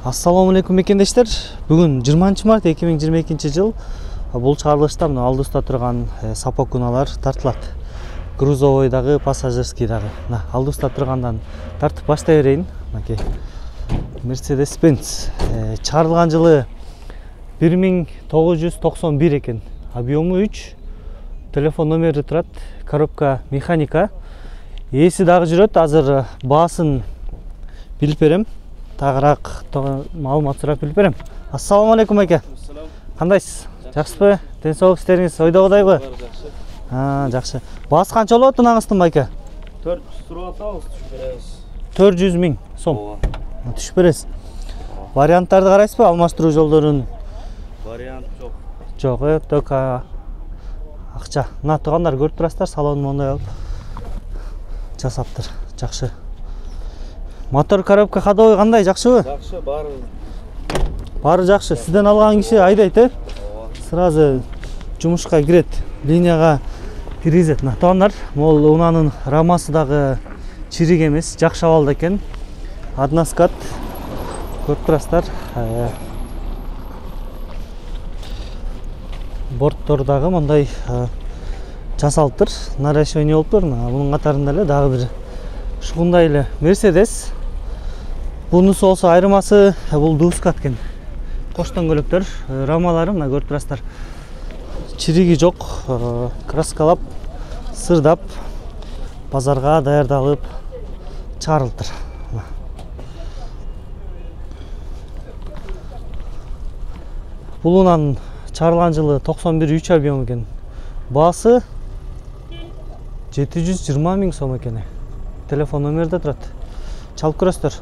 Assalamu alaikum mekендештер. Бүгүн 20 март 2022 жыл. Бул чыгарылышта мына алдыбызда турган сапа куналар тартылат. Грузовойдагы, пассажирскийдагы. Мына алдыбызда тургандан тартып баштай берейин. Мынакей Mercedes-Benz чыгарылган жылы 1991 экен. Объему 3. Телефон номери турат. Коробка механика. Ээси дагы жүрөт. Азыр баасын билип берем. Тагыраак маалымат сурап билип берем. Ассаламу алейкум аке. Кандайсыз? Жакшысызбы? Ден соолук иштериңиз ойдогудайбы? Жакшы. Жакшы. Баасы канча болот мынаңыздын байке? 400 сурап атабыз, түшүп беребиз. 400 000 сом. Түшүп бересиз. Варианттарды карайсызбы? Алмаштыруу жолдорун? Вариант жок. Жок, только акча. Мына туугандар көрүп турасыздар, салонун мондай алып жасаптыр. Жакшы. Мотор, коробка, ходовой кандай, жакшыбы? Жакшы, Баары жакшы. Сизден алган киши айдайт, Сразу жумушка кирет, линияга киргизет. Мына туугандар, могул унаанын рамасы дагы чирик эмес, жакшы абалда экен. Односкат. Көрүп турасыздар. Борттор дагы мондай жасалыптыр. Наращивание болуптур. Мунун катарында эле дагы бир ушундай эле Mercedes. Бунусу болсо айырмасы бул дускат экен. Кош дөңгөлөктөр, рамалары мына көрүп турасыздар. Чириги жок, краскалап, сырдап, базарга даярдалып чыгарылыптыр. Бул унан чыгарылган жылы 91 объем экен. Баасы 720 000 сом экен. Телефон номерде турат. Чалып көрөсүздөр.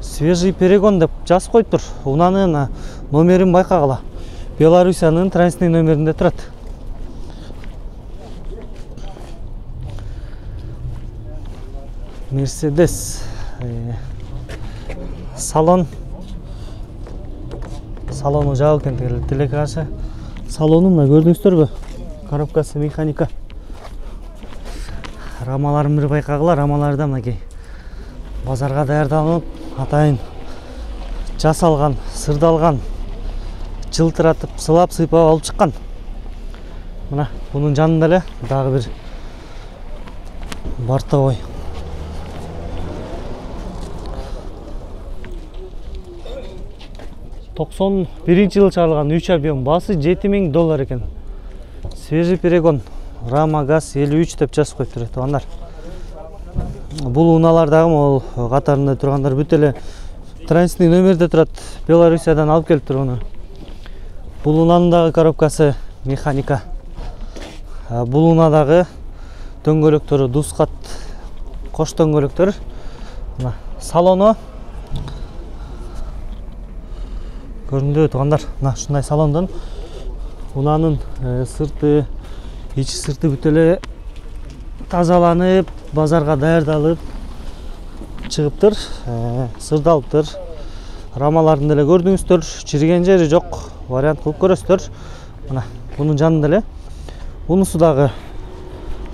Свежий перегон деп жазып коюптур. Унаанын номерин байкагыла. Белоруссиянын транзитный номеринде турат. Mercedes. Салону жабык экен, телекаша. Салону мына көрдүңүздөрбү? Коробкасы механика. Рамаларын бир байкагыла, рамаларда мынакей базарга даярдалып, атайын жасалган, сырдалган, жылтыратып, сылап, сыйпап алып чыккан. Мына бунун жанында эле дагы бир бортовой. $91 жылы чыгарылган 3 объем, баасы $7000 экен. Свежий перегон, рама, газ 53 деп жазып коюптур туугандар. Бул унаалар дагы могул катарында тургандар бүт эле транзитный номерде турат. Белоруссиядан алып келиптир уну. Бул унаанын дагы коробкасы механика. Бул унаадагы дөңгөлөктөрү дускат, кош дөңгөлөктөр. Мына салону көрүндү туугандар. Мына ушундай салондон унаанын сырты, ичи сырты бүт эле тазаланып, базарга даярдалып чыгыптыр, сырдалыптыр. Рамаларын деле көрдүңүздөр, чириген жери жок. Вариант кылып көрөсүздөр. Мына бунун жанында эле унусу дагы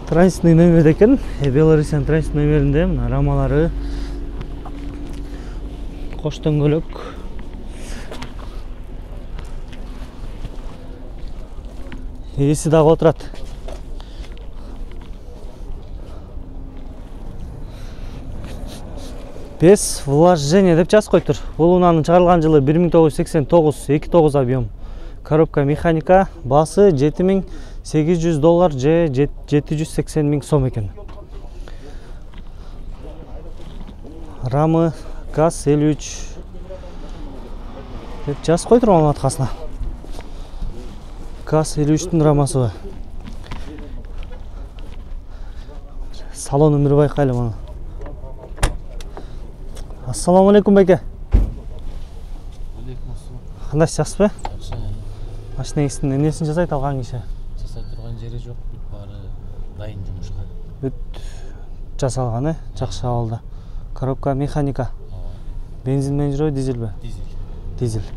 транзитный номерде экен. Белоруссиянын транзитный номеринде мына рамалары, кош дөңгөлөк. Ээси дагы отурат. Без вложения деп жазып коюптур. Бул унаанын чыгарылган жылы 1989, 29 объем. Коробка механика, баасы $7800 же 780 000 сом экен. Рамы, газ 53 деп жазып коюптур маалыматкасына. Газ 53-түн рамасы. Салонун бир байкайлы муну. Ассаламу алейкум байке. Алейкум ассалам. Кандайсыз, жакшысызбы? Жакшы. Машинеңиздин эмнесин жасайт алган киши? Жасай турган жери жок, бүт баары дайын жумушка. Бүт жасалган, жакшы абалда. Коробка механика. Бензин менен жүрөбү, дизельби? Дизель.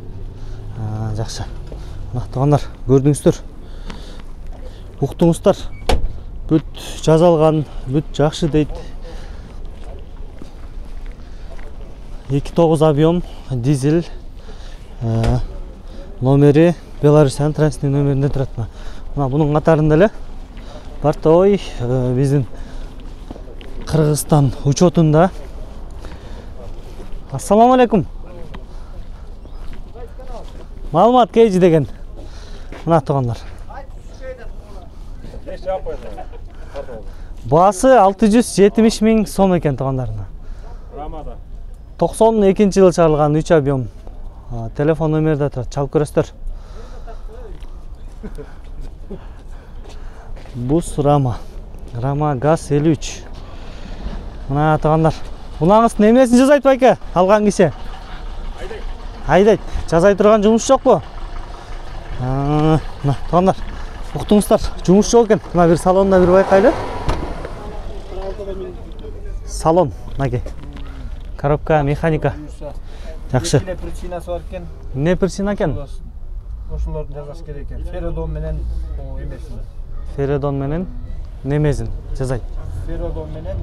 Жакшы. Мына туугандар, көрдүңүздөр. Уктуңуздар. Бүт жазалган, бүт жакшы дейт. 2.9 объем, дизель, Номери Беларусьтан транзитный номеринде турат. Мына бунун катарында эле бортовой биздин Кыргызстан учетунда. Ассаламу алейкум. Маалымат кейжи деген. Мына туугандар. Баасы 670 миң сом экен туугандарына. 92-жылы чыгарылган 3 объем. Телефон номерде турат, чалып көрөсүздөр. Бус Рама. Рама ГАЗ 53. Мына туугандар. Булаңыздын эмнесин жазайт байке? Алган киши. Айдайт. Жазай турган жумуш жокпу? Мына туугандар. Уктуңуздар, жумуш жок экен. Мына бир салонда бир байкайлы. Салон, мынакей. Коробка, механика. Жакшы. Эмне причинасы бар экен? Эмне причина экен? Ошолорду жазаш керек экен. Феродон менен эмесин. Феродон менен немезин жазайт. Феродон менен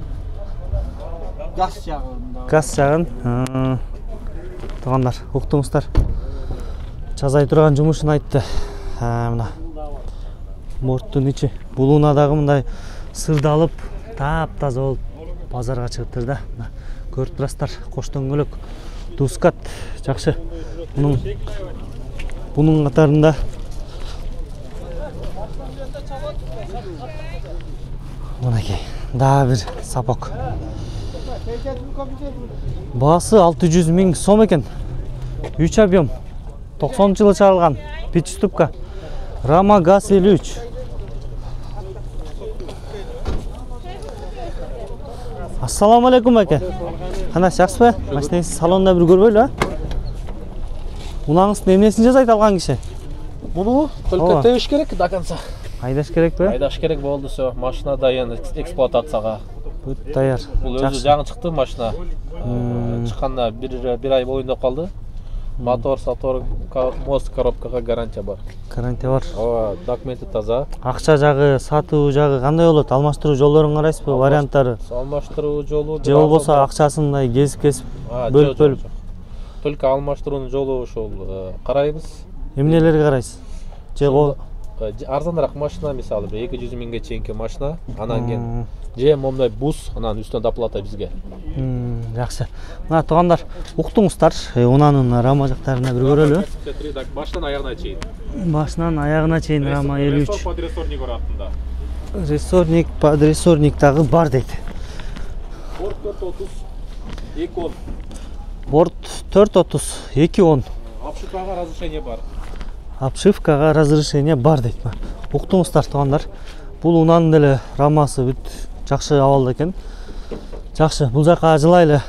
газ жагында. Газ жагын. Туугандар, уктуңуздар. Жазай турган жумушун айтты. Мына. Борттун ичи булуунадагы мындай сырдалып, таап-таза болуп базарга чыгыптыр да. Мына көрүп турасыздар, кош дөңгөлөк, дускат жакшы. Бунун катарында мынакей, дагы бир сапок. Баасы 600 миң сом экен. 3 объем. 90-жылы чыгарылган. Пятиступка. Рама ГАЗ 53. Ассаламу алейкум аке. Кандай жакшысызбы? Машинеңизди салонда бир көрбөйлү, а? Унаңыздын эмнесин жасайт алган киши? Буну только тебиш керек до конца. Айдаш керекпи? Айдаш керек болду, всё. Машина дайын эксплуатацияга. Бүт даяр. Бул өзү жаңы чыкты машина. Чыкканда бир ай боюнда калды. Мотор, сатор, мост, коробкага гарантия бар. Гарантия бар. Ооба, документи таза. Акча жагы, сатуу жагы кандай болот? Алмаштыруу жолдорун карайсызбы? Варианттары? Алмаштыруу жолу Же болбосо акчасын мындай кесип бөлүп. Только алмаштыруунун жолу ошол карайбыз. Эмнелерди карайсыз? Же арзаныраак машина, мисалы 200 миңге чейинки машина, анан кийин же момундай бус, анан үстүнө доплата бизге. Жакшы. Мына туугандар, уктуңуздар, унанын Рама жактарына бир көрөлү. Башынан аягына чейин. Башынан аягына чейин Рама 53. Подрессорник бар артында. Рессорник, подрессорник дагы бар дейт. Борт 430, 210. Борт 430, 210. Обшивкага разрешение бар. Обшивкага разрешение бар дейт. Уктуңуздар туугандар. Бул унанын деле Рамасы бүт жакшы абалда экен. Жакшы, бул жакка жылайлы.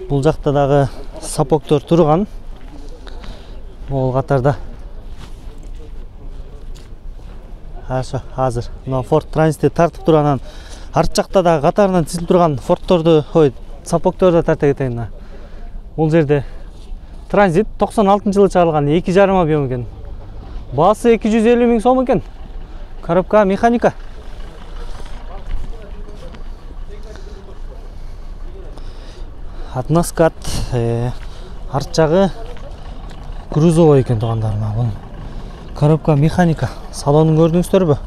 Бул жакта дагы сапоктор турган. Ол катарда. Азыр. Мына Ford Transit тартып турганан арт жакта дагы катарынан тизилип турган Ford'торду, сапокторду тарта кетейин. Бул жерде Transit 96-жылы чыгарылган 2,5 объем экен. Баасы 250 миң сом экен. Коробка механика. Атнаскат, арт жагы грузовой экен туугандар. Бул коробка механика. Салонун көрдүңүздөрбү?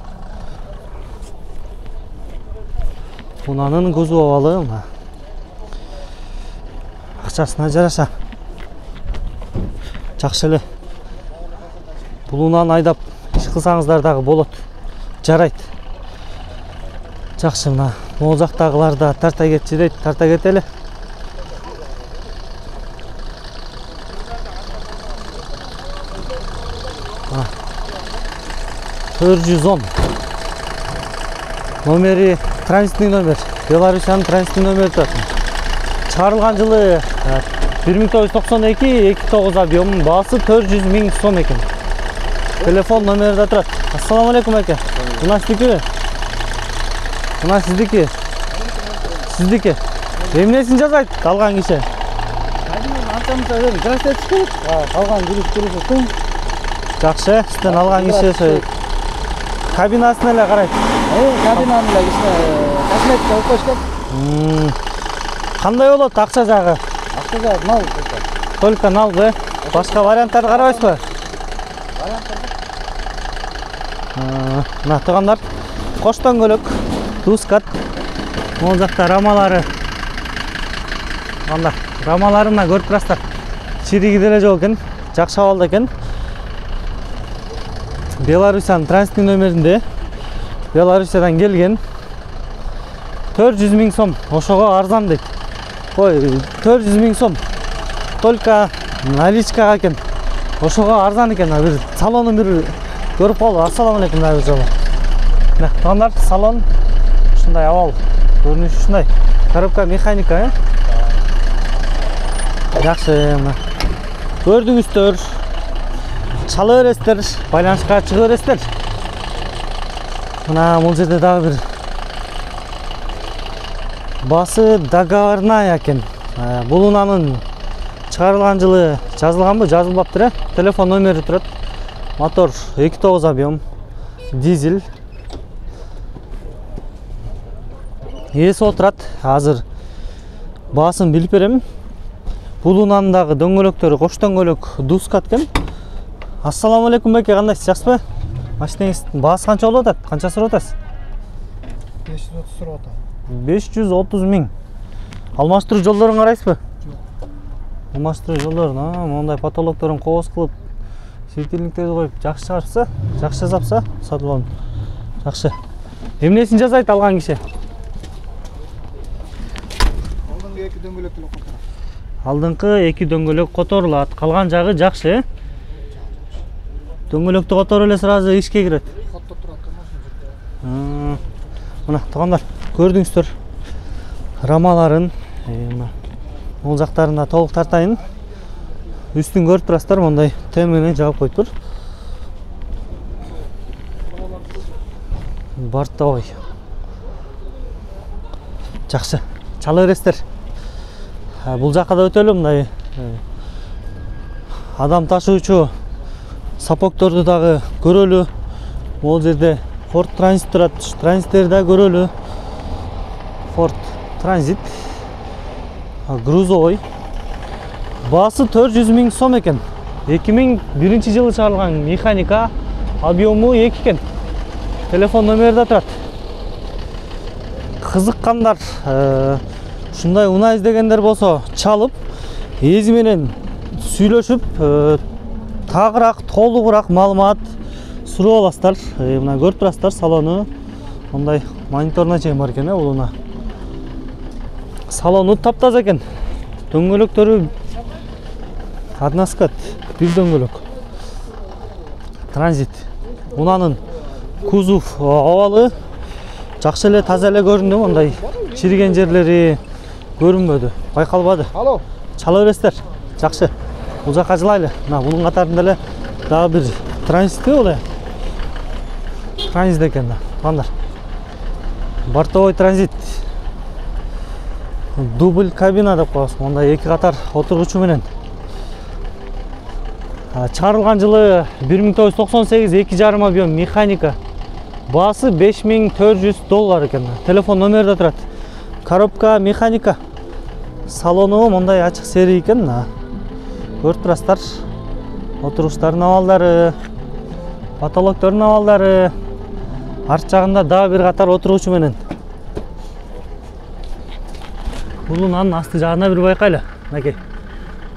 Унанын кузов абалы. Акчасына жараша. Жакшы эле. Бул унаны айдап иш кылсаңыздар дагы болот. Жарайт. Жакшы, мына могул жактагылар да тарта кетчи дейт, тарта кетели. Мына 410. Номери транзитный номер. Беларусьтан транзитный номер турат. Чыгарылган жылы 1992, 29 объем, баасы 400 миң сом экен. Телефон номерде турат. Ассаламу алейкум аке. Мына сиздики? Мына сиздики? Сиздики? Эмнесин жазайт алган киши? Антамызда бир газ этиш. Калган жүрүш. Жакшы, сизден алган киши кабинасын эле карайт. Кабинаны эле кичине косметика алып коюшкан. Кандай болот акча жагы? Акча жагы нал. Только нал, Башка варианттарды карабайсызбы? Мына туугандар, кош дөңгөлөк, Дускат. Могул жакта рамалары. Анда рамаларына көрүп турасыздар. Чириги деле жок экен, жакшы абалда экен. Беларусиянын транзиттик нөмеринде. Беларусиядан келген. 400 000 сом, ошого арзан дейт. Ой, 400 000 сом. Только наличкага экен. Ошого арзан экен. Бир салонун бир көрүп калды. Ассаламу алейкум дагы жолу. Мына туугандар, салон ушундай абал. Көрүнүшү ушундай. Коробка механика, жакшы. Мына көрдүңүздөр. Чала бересиздер, байланышка чыга бересиздер. Мына бул жерде дагы бир басы договорная экен. Бул унанын чыгарылган жылы жазылганбы, жазылбаптыр, телефон номери турат. Мотор 2.9 объем, дизель. Ээси отурат. Азыр баасын билип берем. Бул унанын дагы дөңгөлөктөрү кош дөңгөлөк Дускат экен. Ассаламу алейкум беке, кандайсыз, жакшысызбы? Машинеңиздин баасы канча болуп атат? Канча сурап атасыз? 530 сурап атам. 530 000. Алмаштыруу жолдорун карайсызбы? Жок. Алмаштыруу жолдорун, мондай потолокторун кооз кылып, светильниктерди коюп жакшы чыгарса, жакшы жазапса, сатып алам. Жакшы. Эмнесин жазайт алган киши? Алдыңкы 2 дөңгөлөк деле которот. Алдыңкы 2 дөңгөлөк которулат. Калган жагы жакшы. Дөңгөлөктү которуп эле сразу ишке кирет. Каттап турат машина. Мына туугандар, көрдүңүздөр. Рамаларын, бул жактарында толук тартайын. Үстүн көрүп турасыздар, мондай тем менен жаап коюптур. Бортовой. Жакшы. Чала бересиздер. Бул жакка да өтөлү, мындай адам ташуучу сапокторду дагы көрөлү. Бул жерде Ford Transit турат. Транзиттерди да көрөлү. Ford Transit. Грузовой. Баасы 400 000 сом экен. 2001 жылы чыгарылган механика, объему 2 экен. Телефон номери да турат. Кызыккандар, ушундай унаа издегендер болсо, чалып, эзи менен сүйлөшүп, тагыраак, толугураак маалымат сурап аласыздар. Мына көрүп турасыздар, салону мондай мониторуна чейин бар экен, бул унаа. Салону таптаза экен. Дөңгөлөктөрү односкат, бир дөңгөлөк. Транзит. Унанын кузов абалы жакшы эле, таза эле көрүндү, мондай чириген жерлери көрүнбөдү, байкалбады. Алло. Чала бересиздер. Жакшы. Бул жакка жылайлы. Мына бунун катарында эле дагы бир транзитти боло. Транзит экен да. Анда. Бортовой транзит. Дубль кабина деп коебуз. Мондай 2 катар отургучу менен. Чыгарылган жылы 1998, 2,5 объем механика. Баасы $5400 экен. Телефон номери да турат. Коробка механика. Салону мондай ачык серий экен. Көрүп турасыздар. Отуруштардын абалдары, потолоктордун абалдары. Арт жагында дагы бир катар отургучу менен. Бул унанын асты жагына бир байкайлы. Мынакей.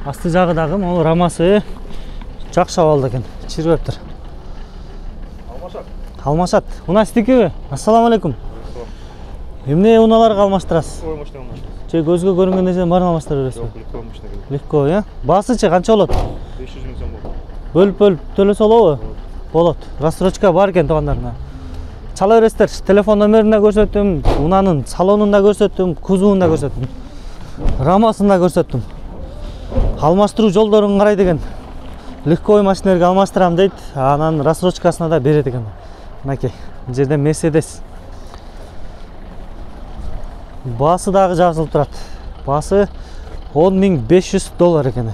Асты жагы дагы могу рамасы жакшы абалда экен. Чирбептир. Алмашат. Унаа сиздикиби? Ассаламу алейкум. Эмне унааларга алмаштырасыз? Ой, машина алмаштырасыз. Же көзгө көрүнгөн нерсени баарын алмаштыра бересизби? Жок, легко машина керек. Легко, Баасычы канча болот? 500 000 сом болот. Бөлүп төлөсө болобу? Болот. Рассрочка бар экен туугандарына. Чала бересиздер. Телефон номерин да көрсөттүм, унанын салонун да көрсөттүм, кузовун да көрсөттүм. Рамасын да көрсөттүм. Алмаштыруу жолдорун карайт экен. Легко машиналерге алмаштырам дейт, анан рассрочкасына да берет экен. Мынакей, бул жерде Mercedes. Баасы дагы жазылып турат. Баасы $10,500 экен.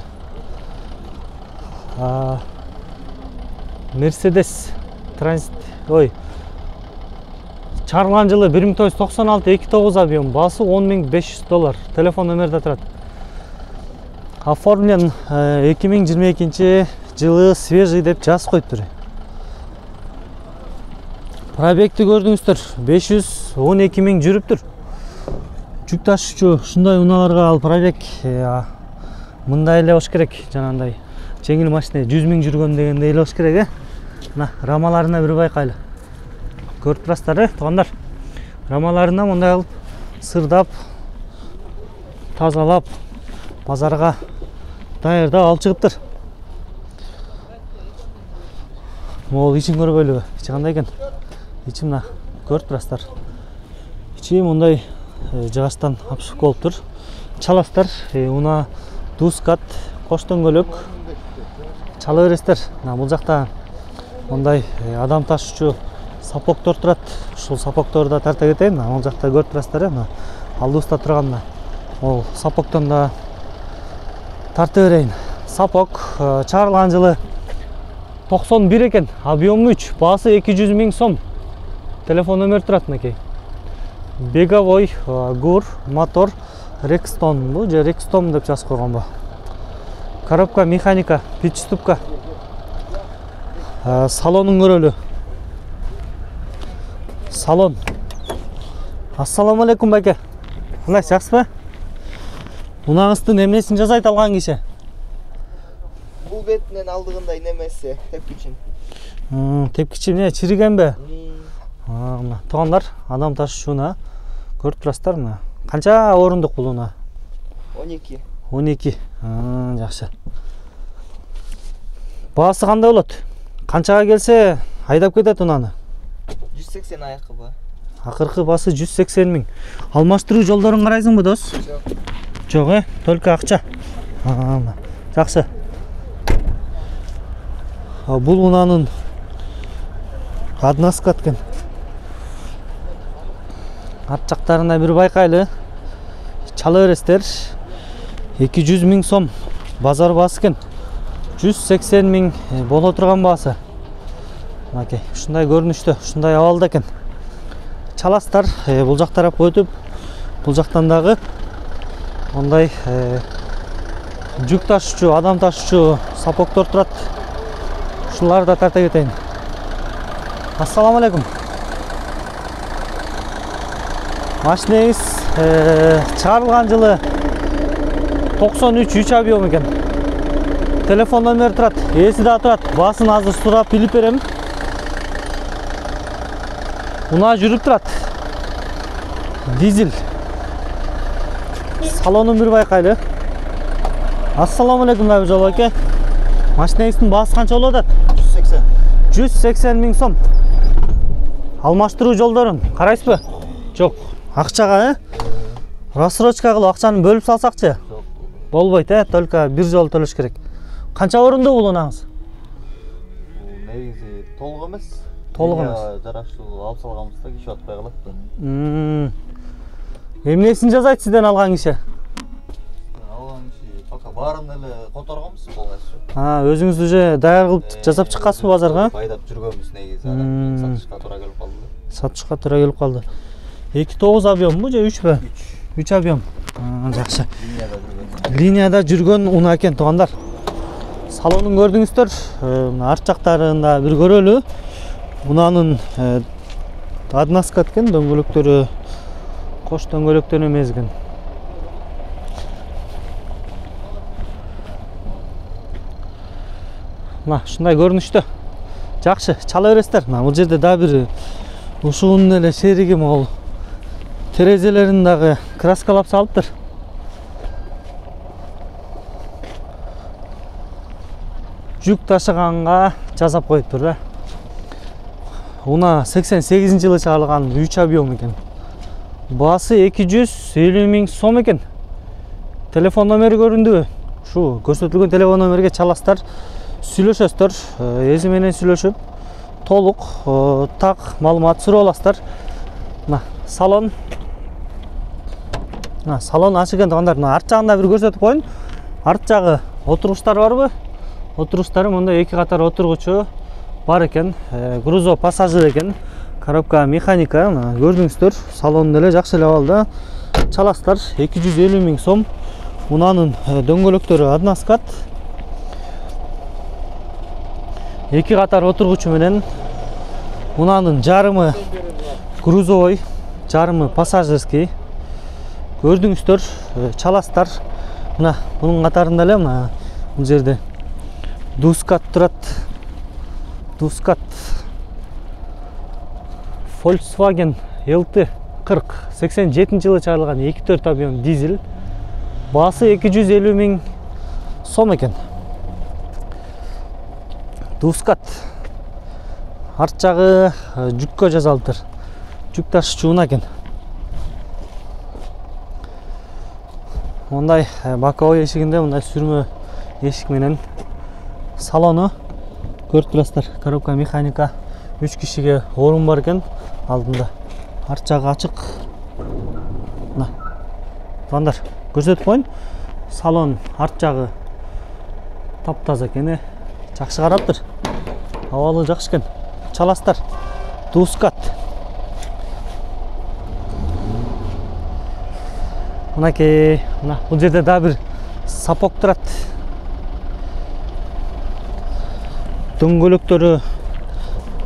Mercedes Transit. Ой. Чыгарылган жылы 1996, 2.9 объем. Баасы $10,500. Телефон номери да турат. оформлен 2022 жылы свежий деп жазып коюптур. Пробегти көрдүңүздөр, 512 миң жүрүптүр. Жүк ташуучу ушундай унааларга ал пробег мындай эле болуш керек, жанагындай жеңил машина 100 миң жүргөн дегендей эле болуш керек. Мына рамаларына бир байкайлы. Көрүп турасыздар, туугандар. Рамаларына мындай алып сырдап, тазалап, базарга даярдап алып чыгыптыр. Могул ичин көрбөйлүбү? Ичи кандай экен? Ичи мына көрүп турасыздар. Ичи мындай жыгачтан обшивка болуптур. Чаластар, уна дускат, кош дөңгөлөк чала бересиздер. Бул жакта мындай адам ташуучу сапоктор турат. Ушул сапокторду да тарта кетейин. Ал жакта көрүп турасыздар, алдыбызда турган ол сапоктон да тарта берейин. Сапок чыгарылган жылы 91 экен, объему 3, баасы 200 миң сом. Телефон номер турат мынакей. Беговой ГУР мотор Рекстон бу же Рекстон деп жазып койгон бу. Коробка механика, пятиступка. Салонун көрөлү. Салон. Ассаламу алейкум байке. Кандай, жакшысызбы? Унаңыздын эмнесин жасайт алган киши? Бул бетинен алдыгындай немеси, тепкичин. Тепкичи эмне, чиригенби? Мына туугандар, адам ташуучуна көрүп турасыздар мына. Канча орундук бул уна? 12. 12. Жакшы. Баасы кандай болот? Канчага келсе айдап кетет унаны? 180 айкыбы. Акыркы баасы 180 миң. Алмаштыруу жолдорун карайсыңбы, дос? Жок, только акча. Жакшы. Бул унанын аднаска экен. Арт жактарына бир байкайлы. Чала бересиздер. 200 миң сом базар баасы экен. 180 миң боло турган баасы. Мынакей, ушундай көрүнүштө, ушундай абалда экен. Чаластар, бул жак тарап өтүп, бул жактан дагы мындай жүк ташуучу, адам ташуучу сапоктор турат. Ушуларды да тарта кетейин. Ассаламу алейкум. Машинеңиз чыгарылган жылы 93 3 объем экен. Телефон номер турат, ээси да турат. Баасын азыр сурап билип берем. Уна жүрүп турат. Дизель. Салонун бир байкайлы. Ассаламу алейкум жол аке. Машинеңиздин баасы канча болуп атат? 180. 180 миң сом. Алмаштыруу жолдорун карайсызбы? Жок. Акчага, рассрочка кылып акчаны бөлүп салсакчы? Жок. Болбойт, только бир жолу төлөш керек. Канча орунду бул унаңыз? Негизи толук эмес. Толук эмес. Жараштуу алып салганбызда киши атпай калат да. Эмнесин жасайт сизден алган киши? Алган киши пока баарын эле которгонбуз полностью. Өзүңүз уже даяр кылып жасап чыккансызбы базарга? Байдап жүргөнбүз негизи, анан сатышка туура келип калды. Сатышка туура келип калды. 2.9 объембу же 3бү? 3 объем. Жакшы. Линияда жүргөн уна экен, туугандар. Салонун көрдүңүздөр, арт жактарында бир көрөлү. Унанын аднаска экен, дөңгөлөктөрү кош дөңгөлөктөн эмес экен. Мына ушундай көрүнүштө. Жакшы, чала бересиздер. Бул жерде да бир ушунун эле шериги могул. Терезелерин дагы краскалап салыптыр. Жүк ташыганга жасап коюптур да. Уна 88 жылы чыгарылган 3 объем экен. Баасы 250 миң сом экен. Телефон номери көрүндүбү? Ушу көрсөтүлгөн телефон номерге чаластар, сүйлөшөсүздөр, эзи менен сүйлөшүп, толук так маалымат сурап аласыздар. Мына салон. Салон ачык экен, туугандар. Арт жагында бир көрсөтүп коеюн. Арт жагы отургучтар барбы? Отургучтары мында 2 катар отургучу бар экен. Грузо пассажир экен. Коробка механика, көрдүңүздөр. Салон деле жакшы эле абалда. Чаластар 250 миң сом. Унанын дөңгөлөктөрү односкат. 2 катар отургучу менен. Унанын жарымы грузовой, жарымы пассажирский. Көрдүңүздөр, чаластар. Мына бунун катарында эле мына бул жерде Дускат турат. Дускат. Volkswagen LT 40 87-жылы чыгарылган 2.4 объем дизель. Баасы 250 000 сом экен. Дускат. Арт жагы жүккө жасалыптыр. Жүк ташуучу унаа экен. Мондай боковой эшигинде мындай сүрмө эшик менен салону көрүп турасыздар. Коробка механика, 3 кишиге орун бар экен алдында. Арт жагы ачык. Мына. Туугандар, көрсөтүп коеюн. Салон арт жагы таптаза экен. Жакшы караптыр. Абалы жакшы экен. Чаластар. Дускат. Мынакей, мына бул жерде да бир сапок турат. Дөңгөлөктөрү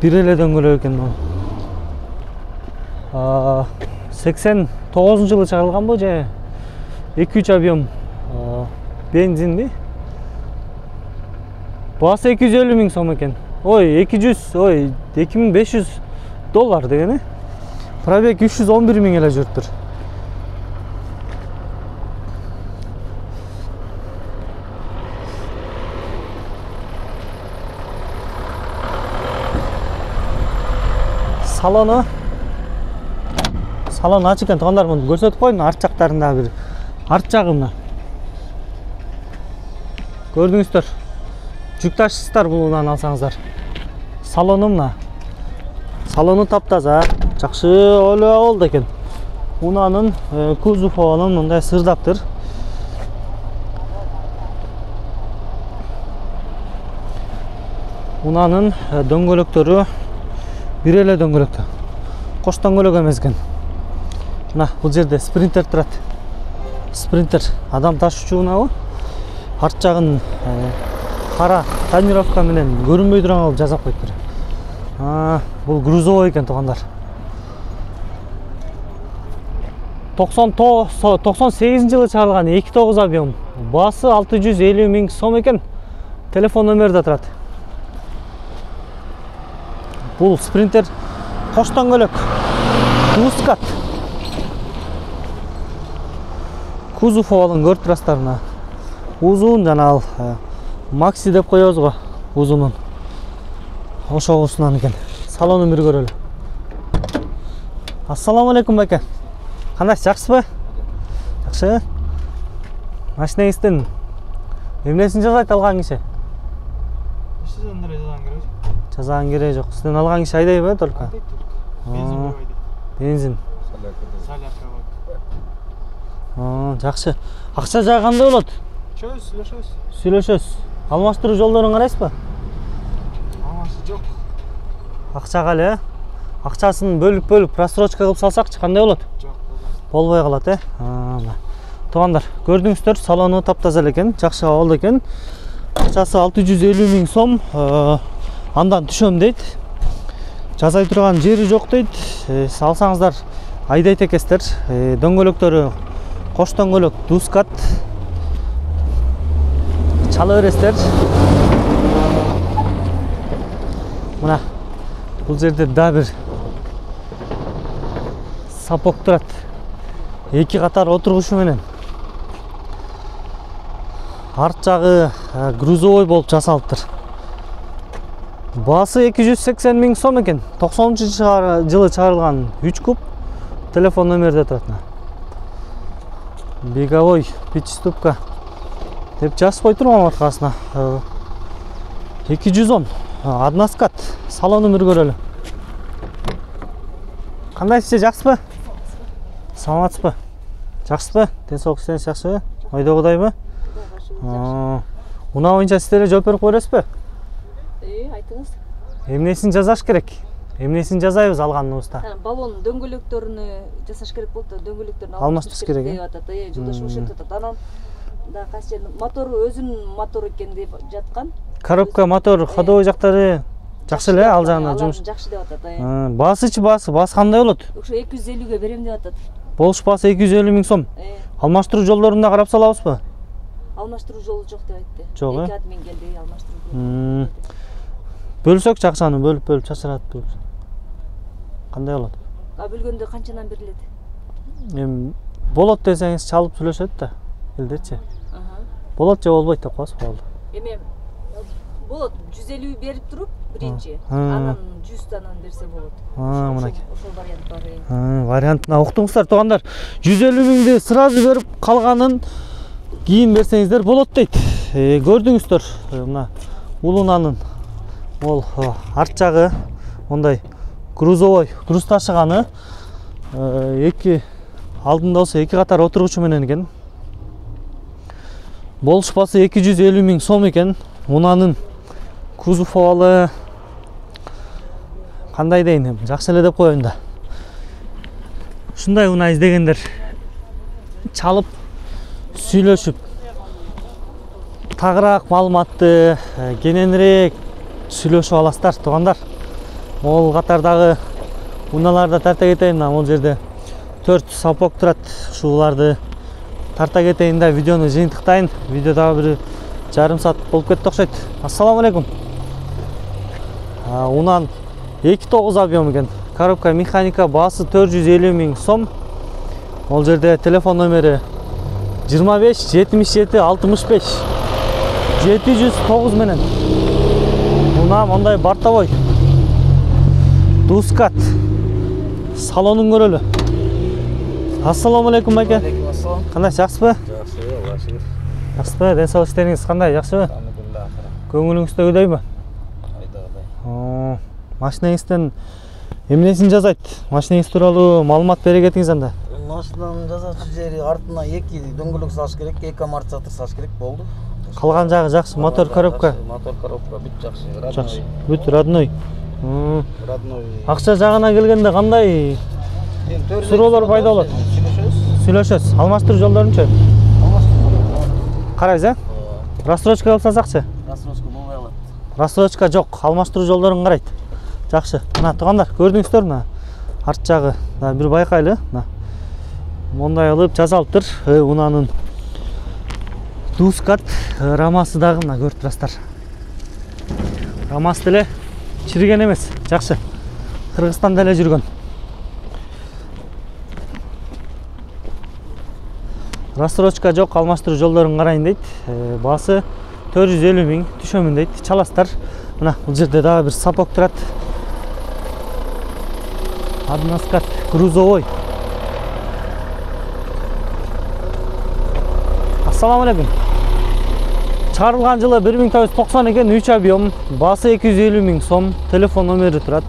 бир эле дөңгөлөк экен бул. 89-жылы чыгарылган бу же 2.3 объем бензинби? Баасы 250 000 сом экен. Ой, 2500 доллар дегени. Пробег 311 000 эле жүрүптүр. Салон ачык экен, туугандар, муну көрсөтүп коеюн. Арт жактарында бир арт жагы мына. Көрдүңүздөр. Жүк ташыйсыздар бул унаны алсаңыздар. Салону мына. Салону таптаза, жакшы эле абалда экен. Унанын кузов абалын мындай сырдаптыр. Унанын дөңгөлөктөрү бир эле дөңгөлөктө. Кош дөңгөлөк эмес экен. Мына бул жерде спринтер турат. Спринтер адам ташуучу унабы? Арт жагын кара тонировка менен көрүнбөй турган кылып жасап коюптур. Бул грузовой экен, туугандар. 98-жылы чыгарылган 2.9 объем. Баасы 650 000 сом экен. Телефон номери да турат. Бул спринтер кош дөңгөлөк. Дускат. Кузов абалын көрүп турасыздар мына. Узун жана ал Макси деп коебуз го, узунун. Ошогусунан экен. Салонун бир көрөлү. Ассаламу алейкум байке. Кандайсыз, жакшысызбы? Жакшы. Машинеңиздин эмнесин жасайт алган киши? Жазаган кереги жок. Сизден алган киши айдайбы только? Бензин. Жакшы. Акча жагы кандай болот? Сүйлөшөбүз. Алмаштыруу жолдорун карайсызбы? Алмашы жок. Акчага эле, акчасын бөлүп просрочка кылып салсакчы кандай болот? Жок, болбой калат, Туугандар, көрдүңүздөр, салону таптаза экен, жакшы абалда экен. Акчасы 650 000 сом. Андан түшөм дейт. Жасай турган жери жок дейт. Алсаңыздар айдайт экенсиздер. Дөңгөлөктөрү кош дөңгөлөк, Дускат. Чала бересиздер. Мына бул жерде да бир сапок турат. 2 катар отургучу менен. Арт жагы грузовой болуп жасалыптыр. Баасы 280 000 сом экен. 90-жылы чыгарылган 3 куб. Телефон номерде турат. Беговой пятиступка деп жазып койтурмун аркасына. 210. Односкат. Салонун бир көрөлү. Кандайсыз, жакшысызбы? Саламатсызбы? Жакшысызбы? Денсаулыгыңыз жакшыбы? Ойдогудайбы? Унаа боюнча сиздер жооп берип кой бересизби? Айтыңыз. Эмнесин жасаш керек? Эмнесин жасайбыз алганыбызда? Баллон дөңгөлөктөрүнү жасаш керек болду. Дөңгөлөктөрүнү алмаштырыш керек. Жолдош ошентип атат. Анан да кайсы жерде мотору өзүнүн мотору экен деп жаткан. Коробка, мотор, ходовой жактары жакшы эле, ал жагынан жумуш. Жакшы деп атат. Баасы кандай болот? Ошо 250ге берем деп атат. Болуш баасы 250 000 сом. Алмаштыруу жолдорунда карап салабызбы? Алмаштыруу жолу жок деп айтты. Жок, 2 админ келди, алмаштыруу. Бөлсөкчү акчаны бөлүп чачырат. Кандай болот? Бөлгөндө канчадан берилет? Эми болот десеңиз чалып сүйлөшөт да. Элдечи. Болот же болбойт деп коесуз болду. Эми болот 150 берип туруп биринчи, анан 100 анан берсе болот. Мынакей. Ошол вариант бар. Вариантына уктуңуздар туугандар. 150 000ди сразу берип калганын кийин берсеңиздер болот дейт. Көрдүңүздөр, мына улунанын ол арт жагы мондай грузовой, груз ташыганы эки алдында болсо эки катар отургучу менен экен. Болуш баасы 250 000 сом экен. Унанын кузов овалы кандай дейин, жакшы эле деп коеюн да. Ушундай унаа издегендер чалып сүйлөшүп тагыраак маалыматты кененирээк сүйлөшүп аласыздар туугандар. Могул катардагы унааларды тарта кетейин. Могул жерде 4 сапок турат. Ушуларды тарта кетейин да видеону жыйынтыктайын. Видео дагы бир жарым саат болуп кетти окшойт. Ассаламу алейкум. Унан 2.9 объем экен. Коробка механика, баасы 450 000 сом. Ол жерде телефон номери 25 77 65 709 менен. Унаа мондай бортовой. Дускат. Салонун көрөлү. Ассаламу алейкум байке. Кандай, жакшысызбы? Жакшы. Жакшысызбы? Ден соолук иштериңиз кандай, жакшыбы? Көңүлүңүздөгүдөйбү? Айдагыдай. Машинеңизден эмнесин жазайт? Машинеңиз тууралуу маалымат бере кетиңиз анда. Машинанын жазачу жери артына 2 дөңгөлөк салыш керек, 2 амортизатор салыш керек болду. Калган жагы жакшы, мотор, коробка. Мотор, коробка бүт жакшы. Жакшы. Бүт родной. Родной. Акча жагына келгенде кандай суроолор пайда болот? Сүйлөшөбүз. Алмаштыруу жолдорунчу? Карайсыз, рассрочка кылып салсакчы? Рассрочка болбой калат. Рассрочка жок, алмаштыруу жолдорун карайт. Жакшы. Мына туугандар, көрдүңүздөр мына арт жагы. Бир байкайлы. Мына. Мондай кылып жасалыптыр. Унанын Дускат рамасы дагы мына көрүп турасыздар. Рамасы деле чирген эмес, жакшы. Кыргызстанда эле жүргөн. Рассрочка жок, алмаштыруу жолдорун карайын дейт. Баасы 450 000 түшөмүн дейт. Чаласыздар. Мына бул жерде дагы бир сапок турат. Аднаскат грузовой. Ассаламу алейкум. Чыгарылган жылы 1990 экен, 3 объем, баасы 250 000 сом, телефон номери турат.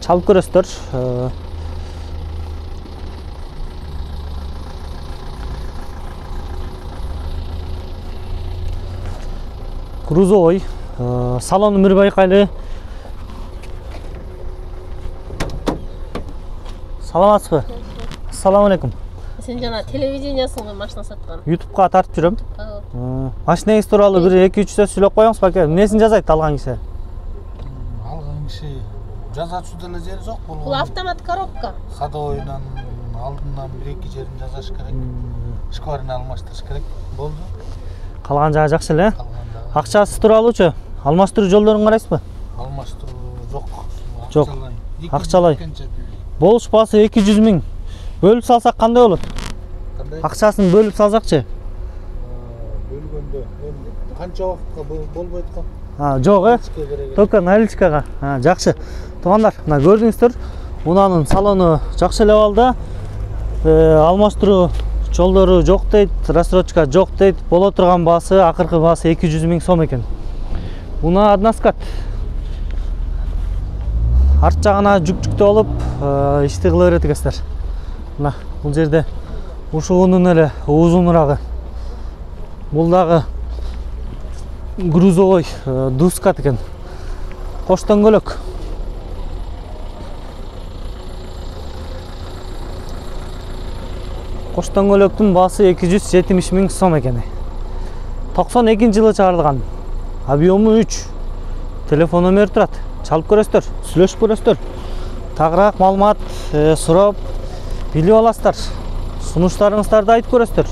Чалып көрөсүздөр. Грузовой, салону бир байкайлы. Саламатсызбы? Ассаламу алейкум. Сен жана телевидениясыңбы машина саткан? YouTube'га тартып жүрөм. Машинеңиз тууралуу бир 2-3 сөз сүйлөп коюңуз баке. Эмнесин жазайт алган киши? Алган киши жазачу деле жери жок болгон. Бул автомат коробка. Ходовойдон алдынан 1-2 жерин жазаш керек. Шкварин алмаштырыш керек. Болду. Калган жагы жакшы эле. Акчасы тууралуучу? Алмаштыруу жолдорун карайсызбы? Алмаштыруу жок. Жок. Акчалай. Болуш баасы 200 000. Бөлүп салсак кандай болот? Акчасын бөлүп салсакчы? Бөлгөндө канча убакытка болбойт го? Жок, Только наличкага. Жакшы. Туугандар, мына көрдүңүздөр, унанын салону жакшы эле абалда. Алмаштыруу жолдору жок дейт, рассрочка жок дейт. Боло турган баасы, акыркы баасы 200 000 сом экен. Унаа Аднаскат. Арт жагына жүк-жүктүү болуп, ишти кыла берет экенсиздер. Мына бул жерде ушуунун эле узунурагы. Бул дагы грузовой Дускат экен. Кош дөңгөлөк. Кош дөңгөлөктүн баасы 270 000 сом экен. 92-жылы чыгарылган. Объему 3. Телефон номери турат. Чалып көрөсүздөр, сүйлөшүп көрөсүздөр. Тагыраак маалымат сурап билип аласыздар. Сунуштарыңыздарды айтып көрөсүздөр.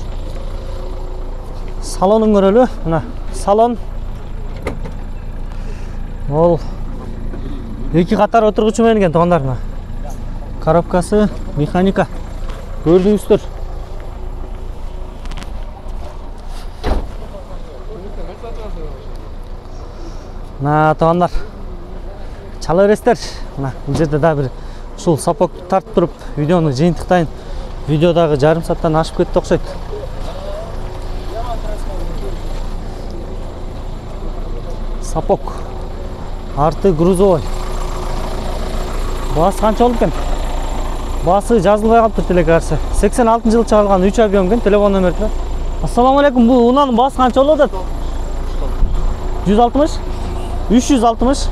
Салонун көрөлү. Мына салон. Ол 2 катар отургучу менен экен туугандар. Мына коробкасы механика. Көрдүңүздөр. Мына туугандар. Чала бересиздер. Мына бул жерде да бир ушул сапок тартып туруп видеону жыйынтыктайын. Видеодагы жарым сааттан ашып кетти окшойт. Сапок. Арты грузовой. Баасы канча болуп экен? Баасы жазылбай калыптыр телекарсы. 86-жылы чыгарылган 3 объем экен, телефон номери турат. Ассаламу алейкум. Бул унанын баасы канча болуп атат? 160? 360?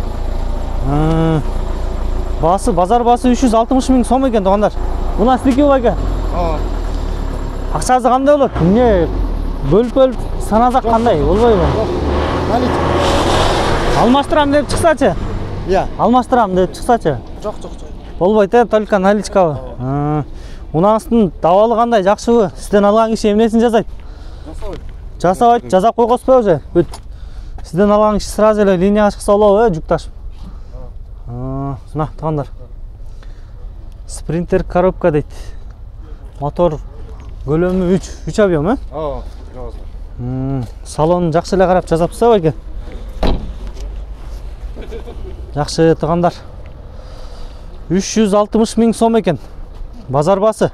Баасы, базар баасы 360 миң сом экен туугандар. Унаа сиздики байка? Акчасы кандай болот? Эмне бөлүп санасак кандай болбойбу? Алмаштырам деп чыксачы? Алмаштырам деп чыксачы? Жок. Болбойт, только наличкабы. Унааңыздын дабалы кандай, жакшыбы? Сизден алган киши эмнесин жасайт? Жасабайт, жасап койгосузбу уже? Сизден алган киши сразу эле линияга чыкса болобу, жүк ташып. Мына туугандар. Спринтер коробка дейт. Мотор көлөмү 3 объем, Салон жакшы эле карап жасапсызбы байке? Жакшы туугандар. 360 миң сом экен. Базар баасы.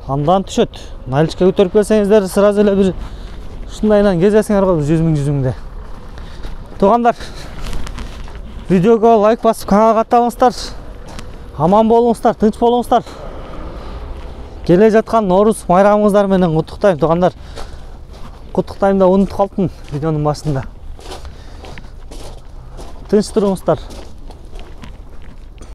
Андан түшөт. Наличка көтөрүп келсеңиздер, сразу эле бир ушундайынан кезесиңер го 100 миң. Туугандар, видеого лайк басып каналга катталыңыздар. Аман болуңуздар, тынч болуңуздар. Келе жаткан Нооруз майрамыңыздар менен куттуктайм туугандар. Куттуктайм да унутуп калдым видеонун башында. Тынч туруңуздар.